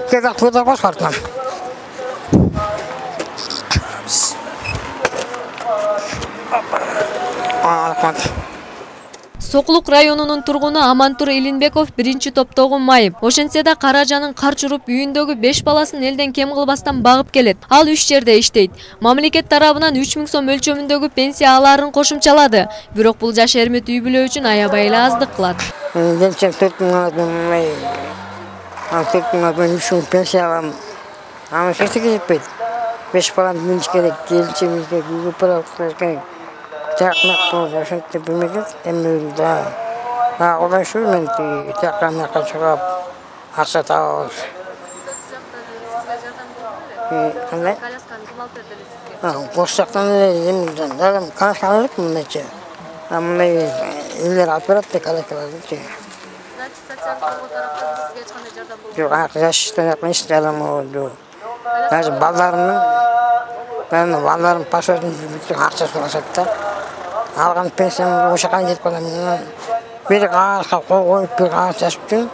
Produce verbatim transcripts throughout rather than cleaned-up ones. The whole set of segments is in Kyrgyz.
Кедак куда башкартам. Сокулук районунун тургуну Амантур Илинбеков биринчи топтогу майып. Ошентсе да Каражанын кар чуруп үйүндөгү беш баласын элден кем кылбастан багып келет. Ал үч жерде иштейт. Мамлекет тарабынан үч миң сом өлчөмүндөгү пенсия алаарын кошумчалады. Бирок бул жаш эрмет үй бүлө үчүн аябай эле аздык кылат. Келчек төрт миң алам. Ал төрт миң алам, үч миң пенсия алам. Аны эч нерсеге жетпейт. беш баланы миниш керек, келчегибизге үйгө пара керек. Чакмак болду, ошентип билмедик. Эми да. А, одан шу мен чакмакка чыгып акча табабыз. Кандай? Колясканы ким алып берди сизге? А, бош жактан эле дадам колясканы алып мындайча. А мындай үйлөр алып берет да коляскаларды. Значит, социалдык тарапта сизге эч кандай жардам болбойт. Жок, жаштан эч жардам болбойт. Даже балдарымдын, мен балдарым пашодун акчасын алышат да. Алган пенсиям ошо кандай жетип калам. Бир кагазга кол коюп, бир кагаз жазып жүрүм.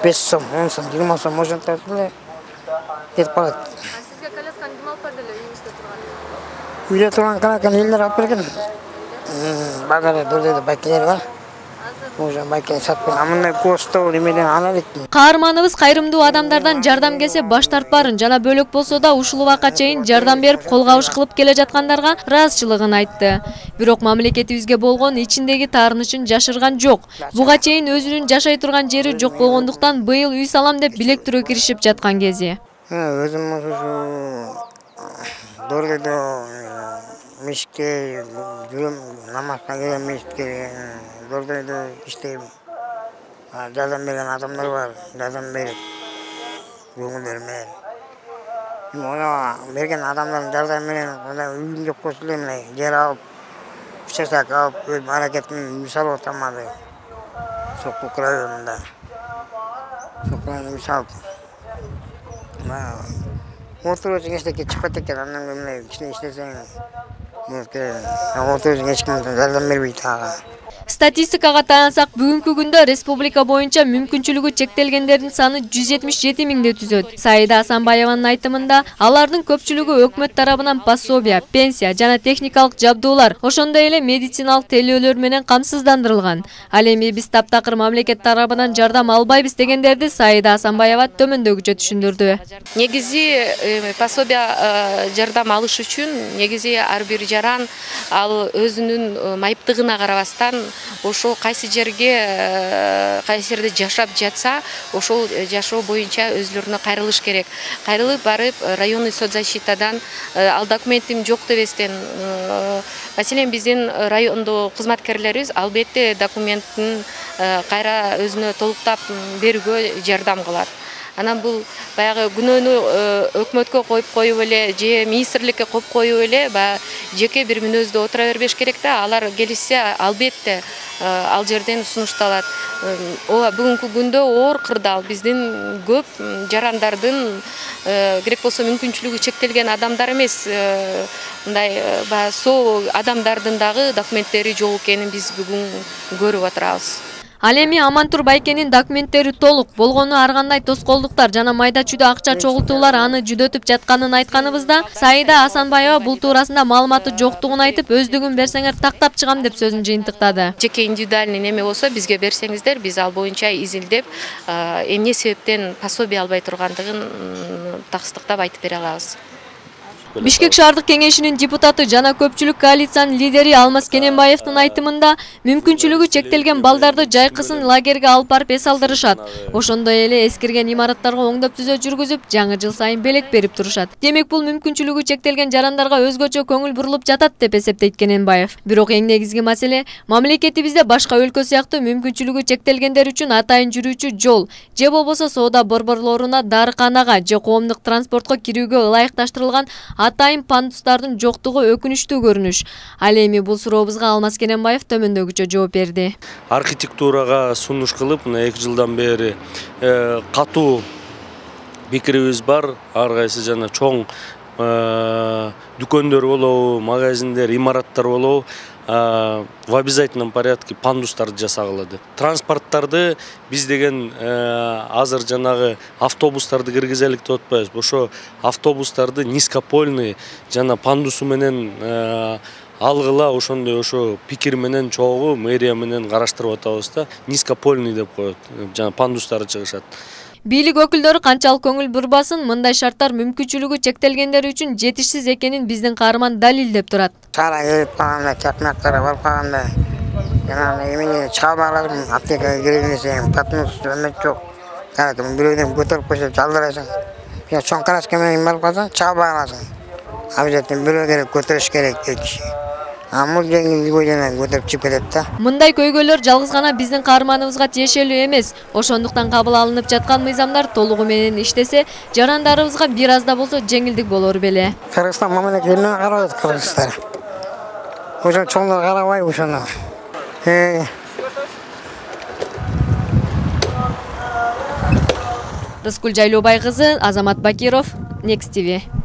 беш сом, он сом, жыйырма сом ошентип эле жетип калат. А сизге колясканы ким алып берди эле үйүңүздө турган? Үйдө турган колясканы элдер алып берген. Базарда дөрдөдө байкелер бар. Уже байкен сатып, мындай постоо эмеден ала электим. Каарманыбыз кайрымдуу адамдардан жардам келсе баш тартпарын жана бөлөк болсо да ушул убакка чейин жардам берип кол кабыш кылып келе жаткандарга ыраазычылыгын айтты. Бирок мамлекетибизге болгон ичиндеги таарынычын жашырган жок. Буга чейин өзүнүн жашай турган жери жок болгондуктан быйыл үй салам деп билектирөө киришип жаткан кези. Өзүм ушу дөрдөдө мешитке жүрөм, намазга келем мешитке. Дөрдөдө иштейм. Жардам берген адамдар бар, жардам берип көңүлдөр менен. Мына берген адамдардын жардам менен үйүм жок болсо эле мына жер алып, участок алып, өз аракетимди үй салып атам азыр. Сокулук районунда. Сокулук үй салып. Отуруп эчтеке чыкпайт экен, андан мындай кичине иштесең, отуруп эч ким жардам бербейт ага. Статистикага таянсак, бүгүнкү күндө республика боюнча мүмкүнчүлүгү чектелгендердин саны жүз жетимиш жети миңди түзөт. Саида Асанбаеванын айтымында, алардын көпчүлүгү өкмөт тарабынан пособия, пенсия жана техникалык жабдуулар, ошондой эле медициналык тейлөөлөр менен камсыздандырылган. Ал эми биз таптакыр мамлекет тарабынан жардам албайбыз дегендерди Саида Асанбаева төмөндөгүчө түшүндүрдү. Негизи пособия жардам алыш үчүн негизи ар бир жаран ал өзүнүн майыптыгына карабастан ошол кайсы жерге кайсы жерде жашап жатса, ошол жашоо боюнча өзлөрүнө кайрылыш керек. Кайрылып барып районный соцзащитадан ал документим жок дебестен, маселен биздин райондо кызматкерлерибиз албетте документтин кайра өзүнө толуктап берүүгө жардам кылат. Анан бул баягы күнөөнү өкмөткө коюп коюп эле же министрликке коюп коюп эле баягы жеке бир мүнөздө отура бербеш керек да. Алар келишсе албетте ал жерден сунушталат. Ооба бүгүнкү күндө оор кырдаал биздин көп жарандардын керек болсо мүмкүнчүлүгү чектелген адамдар эмес, мындай баягы соо адамдардын дагы документтери жок экенин биз бүгүн көрүп отурабыз. Ал эми Амантур Байкенин документтери толук болгону ар кандай тоскоолдуктар жана майда чүйдө акча чогултуулар аны жүдөтүп жатканын айтканыбызда, Саида Асанбаева бул туурасында маалыматы жоктугун айтып, өздүгүн берсеңер тактап чыгам деп сөзүн жыйынтыктады. Жеке индивидуальный неме болсо бизге берсеңиздер, биз ал боюнча изилдеп, эмне себептен пособие албай тургандыгын таксыздыктап айтып бере алабыз. Бишкек шаардык кеңешинин депутаты жана көпчүлүк коалициянын лидери Алмаз Кененбаевдин айтымында, мүмкүнчүлүгү чектелген балдарды жайкысын лагерге алып барып эс алдырышат. Ошондой эле эскирген имараттарга оңдоп түзөө жүргүзүп, жаңы жыл сайын белек берип турушат. Демек бул мүмкүнчүлүгү чектелген жарандарга өзгөчө көңүл бурулуп жатат деп эсептейт Кененбаев. Бирок эң негизги маселе мамлекетибизде башка өлкө сыяктуу мүмкүнчүлүгү чектелгендер үчүн атайын жүрүүчү жол же болбосо соода борборлоруна, дарыканага же коомдук транспортко кирүүгө ылайыкташтырылган атайын пандустардын жоктугу өкүнүчтүү көрүнүш. Ал эми бул сурообузга Алмаз Кененбаев төмөндөгүчө жооп берди. Архитектурага сунуш кылып, мына эки жылдан бери катуу пикирибиз бар. Ар кайсы жана чоң дүкөндөр болобу, магазиндер, имараттар болобу, в обязательном порядке пандустарды жасагыла деп. Транспорттарды биз деген азыр жанагы автобустарды киргизелик деп атпайбыз. Ошо автобустарды низкопольный жана пандусу менен алгыла, ошондой ошо пикир менен чогуу мэрия менен караштырып атабыз да. Низкопольный деп коет. Жана пандустары чыгышат. Бийлик өкүлдөрү канчалык көңүл бурбасын, мындай шарттар мүмкүнчүлүгү чектелгендер үчүн жетишсиз экенин биздин каарман далилдеп турат. Чара келип калганда, чакмактар барып калганда, жана эмне чыга албадым, аптекага кирейин десем, патмус өмөт жок. Каратым, бирөөдөн көтөрүп койсо жалдырасың. Я чоң краска менен барып калсаң, чыга аласың. Обязательно бирөө керек, көтөрүш керек эки киши. Амул жеңил көйдөнөн көтөрүп чыгып кетет да. Мындай көйгөйлөр жалгыз гана биздин каарманыбызга тиешелүү эмес. Ошондуктан кабыл алынып жаткан мыйзамдар толугу менен иштесе, жарандарыбызга бир аз да болсо жеңилдик болор беле. Кыргызстан мамлекетине карабайт кыргыздар. Ошо чоңдор карабай ошону. Рыскүл Жайлообай кызы, Азамат Бакиров, Next ти ви.